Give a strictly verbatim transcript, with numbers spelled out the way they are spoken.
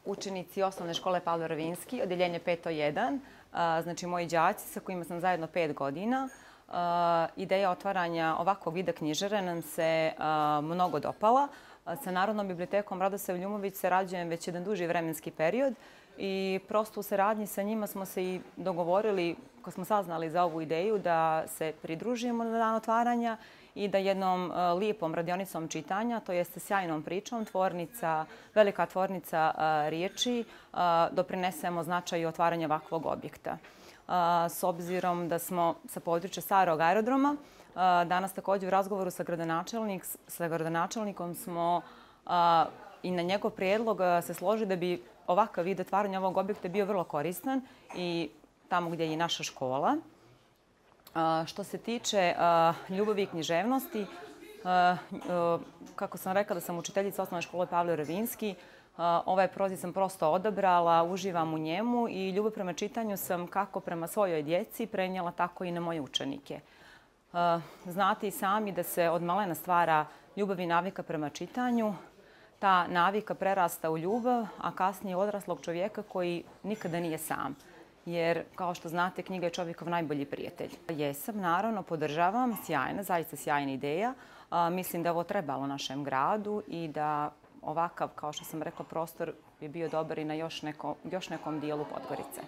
učenici osnovne škole Pavle Rovinjski, odeljenje peto jedan, znači moji đaci sa kojima sam zajedno pet godina. Ideja otvaranja ovakvog vida knjižare nam se mnogo dopala. Sa Narodnom bibliotekom Radosav Ljumović sarađujem već jedan duži vremenski period i prosto u saradnji sa njima smo se i dogovorili, kad smo saznali za ovu ideju, da se pridružimo na dan otvaranja i da jednom lijepom radionicom čitanja, to jeste sjajnom pričom, tvornica, velika tvornica riječi, doprinesemo značaju otvaranja ovakvog objekta. S obzirom da smo sa područja starog aerodroma, danas također u razgovoru sa, gradonačelnik, sa gradonačelnikom smo i na njegov prijedlog se složili da bi ovakav vid otvaranja ovog objekta bio vrlo koristan i tamo gdje je i naša škola. Što se tiče ljubavi i književnosti, kako sam rekla da sam učiteljica osnovne škole Pavle Rovinjski, ovaj proziv sam prosto odabrala, uživam u njemu i ljubav prema čitanju sam kako prema svojoj djeci prenijela tako i na moje učenike. Znate i sami da se od malena stvara ljubav i navika prema čitanju. Ta navika prerasta u ljubav, a kasnije odraslog čovjeka koji nikada nije sam. Jer, kao što znate, knjiga je čovjekov najbolji prijatelj. Jesam, naravno, podržavam, sjajna, zaista sjajna ideja. Mislim da je ovo trebalo našem gradu i da ovakav, kao što sam rekla, prostor bi bio dobar i na još, neko, još nekom dijelu Podgorice.